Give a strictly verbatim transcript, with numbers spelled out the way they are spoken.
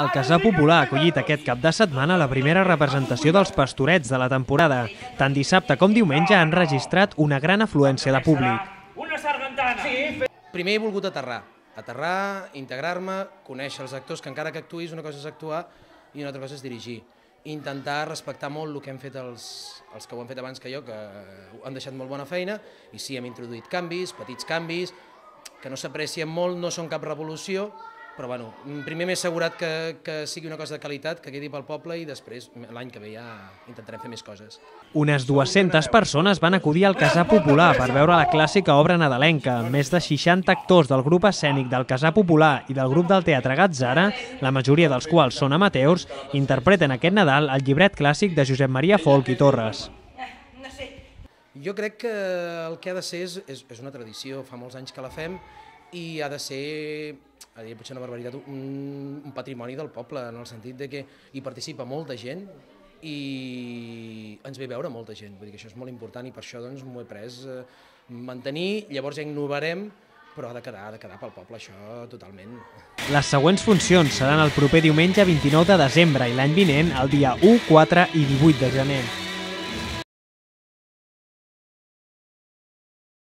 El Casar Popular ha acollit aquest cap de setmana la primera representació dels Pastorets de la temporada. Tant dissabte com diumenge han registrat una gran afluència de públic. Primer he volgut aterrar, aterrar, integrar-me, conèixer els actors, que encara que actuïs una cosa és actuar i una altra cosa és dirigir. Intentar respectar molt el que han fet els, els que ho han fet abans que jo, que han deixat molt bona feina, i sí, hem introduït canvis, petits canvis, que no s'aprecien molt, no són cap revolució, però bueno, primer m'he assegurat que, que sigui una cosa de qualitat, que quedi pel poble, i després l'any que ve ja intentarem fer més coses. Unes dues-centes persones van acudir al Casar Popular per veure la clàssica obra nadalenca. Més de seixanta actors del grup escènic del Casar Popular i del grup del Teatre Gatzara, la majoria dels quals són amateurs, interpreten aquest Nadal el llibret clàssic de Josep Maria Folch i Torres. Jo crec que el que ha de ser és, és, és una tradició, fa molts anys que la fem, i ha de ser, a dir potser una barbaritat, un, un patrimoni del poble, en el sentit de que hi participa molta gent i ens ve veure molta gent. Vull dir que això és molt important i per això doncs, m'ho he pres eh, mantenir, llavors ja innovarem, però ha de quedar, ha de quedar pel poble, això totalment. Les següents funcions seran el proper diumenge vint-i-nou de desembre i l'any vinent el dia u, quatre i divuit de gener.